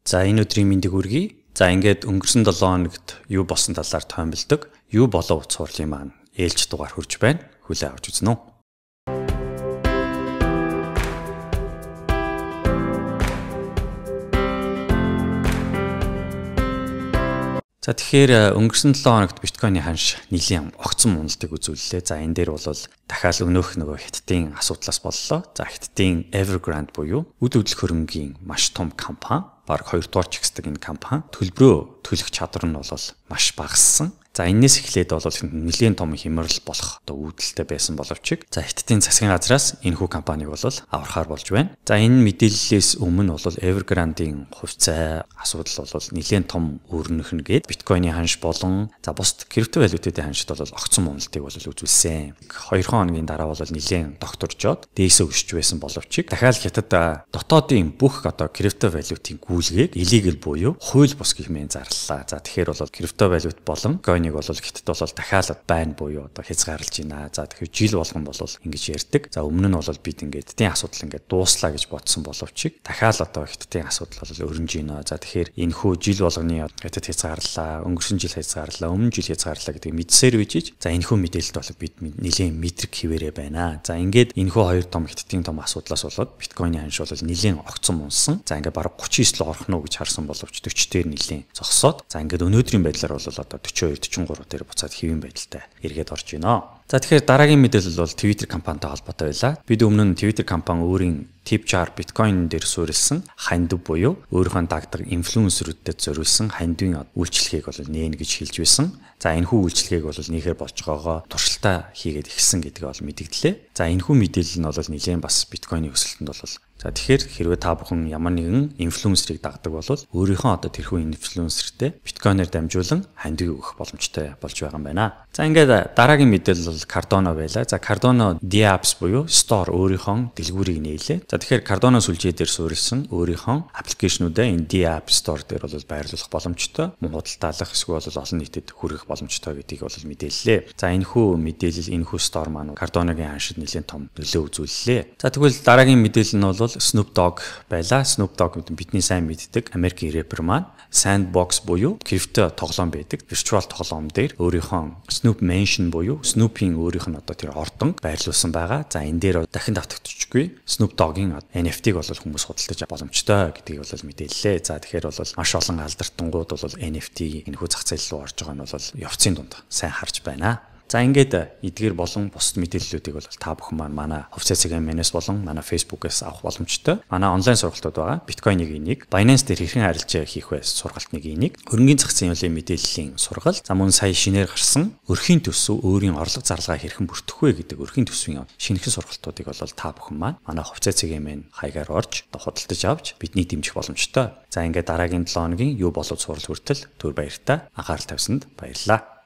За энэ өдрийн мэндийг хүргэе. За ингээд өнгөрсөн 7 хоногт юу болсон талаар томилдог. Юу болов утас хурлын маань ээлж дугаар хүрж байна. Хүлээ авч үзнэ үү? За тэгэхээр өнгөрсөн 7 хоногт биткойны ханш нэлийн огцон уналтыг үзүүллээ. За энэ дээр бол дахиад өнөөх нөгөө хятадын асуудлаас боллоо. За хятадын Evergrande буюу үд хөдлөх хөрөнгийн маш том компани, баг 2 дугаар чигсдэг энэ компани төлбөрөө төлөх чадвар нь бол маш багассан. За энэс эхлээд бол нэлийн том хямрал болох үүдэлтэй байсан боловч за хятадын засгийн газраас энэхүү компанийг бол аврахаар болж байна. За энэ мэдээллээс өмнө бол Evergrande-ийн хувьцаа асуудал бол нэлийн том өрнөхнө гээд биткойны ханш болон за бусад криптовалютуудын ханшд бол огцон уналтыг бол үзүүлсэн. 2 хоногийн дараа бол нэлийн докторжоод дээсээ өсч байсан боловч дахиад хятад дотоодын бүх криптовалютын гүйлгээг illegal буюу хууль бус гэмээр зарлалаа. За тэгэхээр бол криптовалют болон койныг бол хятад бол дахиад байна буюу хязгаарлаж байна. За тэгэхээр жил болгон бол ингэж ярьдаг. За өмнө нь бол бид ингээд хятадын асуудал ингээд дууслаа гэж бодсон боловч дахиад хятадын асуудал бол өрнөж байна. За тэгэхээр энэ хүү жил болгоны хятад хязгаарлаа, өнгөрсөн жил хязгаарлаа, өмнө жил хязгаарлаа гэдэг мэдсээр үжиж за энэ хүү мэдээлэлд бол бид нэлийн мэдрэг хിവэрэ байна. За ингээд энэ хүү хоёр том хятадын том асуудлаас болоод биткойны ханш бол нэлийн огцон унсан. За ингээд бараг 39 л орох нь гэж харсан боловч 40 дээр нэлийн зогсоод за ингээд өнөөдрийн байдлаар бол 42 43 дээр буцаад хэвийн байдалтай эргээд орж байна. За тэгэхээр дараагийн мэдээлэл бол Twitter компанитай холбоотой байлаа. Бид өмнө нь Twitter компани өөрийн Tipjar биткойн дээр суурилсан хандив буюу өөрийнхөө дагдаг инфлюенсерүүдэд зориулсан хандивын үйлчлэгийг бол нээн гэж хэлж байсан. За энэхүү үйлчлэгийг бол нээхээр болж байгаагаа туршилтаа хийгээд ихсэн гэдгийг бол мэдгдлээ. За энэхүү мэдээлэл нь бол нэлээд бас биткойны өсөлтөнд бол за тэгэхээр хэрвээ та бүхэн ямар нэгэн инфлюенсерийг дагдаг бол өөрийнхөө тэрхүү инфлюенсертэй биткойноор дамжуулан хандив өгөх боломжтой болж байгаа юм байна. За ингээд дараагийн мэдээлэл бол Cardano байлаа. За Cardano DApps буюу Store өөрийнхөө дэлгүүрийг нээлээ. За тэгэхээр Cardano сүлжээ дээр суурилсан өөрийнхөө аппликейшнуудаа энэ DApps Store дээр бол байрлуулах боломжтой, худалдаалах эсвэл олон нийтэд хүргэх боломжтой гэдгийг бол мэдээллээ. За энэхүү мэдээлэл энэхүү Store маань Cardano-гийн ханшид нэлээд том нөлөө үзүүллээ. За тэгвэл дараагийн мэдээлэл нь бол Snoop Dogg байлаа. Snoop Dogg бидний сайн мэддэг Америкийн рэпер маань Sandbox буюу крипто тоглоом байдаг. Virtual тоглоом дээр өөрийнхөө Snoop Mansion буюу Snoop-ийн өөрийнх нь тэр ордон байрлуулсан байгаа. За энэ дээр дахин давтагдчихгүй Snoop Dogg-ийн NFT-г бол хүмүүс худалдаж боломжтой гэдгийг бол мэдээллээ. За тэгэхээр бол маш олон алдартангууд бол NFT энэхүү зах зээл рүү орж байгаа нь бол явцын дунд сайн харж байна. За ингээд эдгээр болон бусад мэдээллүүдийг бол та бүхэн манай хувьцаа CGM-ээс болон манай Facebook-ээс авах боломжтой. Манай онлайн сургалтууд байгаа. Биткойныг энийг, Binance дээр хэрхэн арилжаа хийх вэ сургалтыг энийг, хөрөнгөний зах зээлийн мэдээллийн сургалт, за мөн сая шинээр гарсан өрхийн төсөв өөрийн орлого зарлагаа хэрхэн бүртгэх вэ гэдэг өрхийн төсвийн шинэхэн сургалтуудыг бол та бүхэн манай хувьцаа CGM-ийн хаягаар орж худалдаж авч бидний дэмжих боломжтой. За ингээд дараагийн 7 хоногийн юу болов сурал хүртэл төр баяртай анхаарал тавьсанд баярлалаа.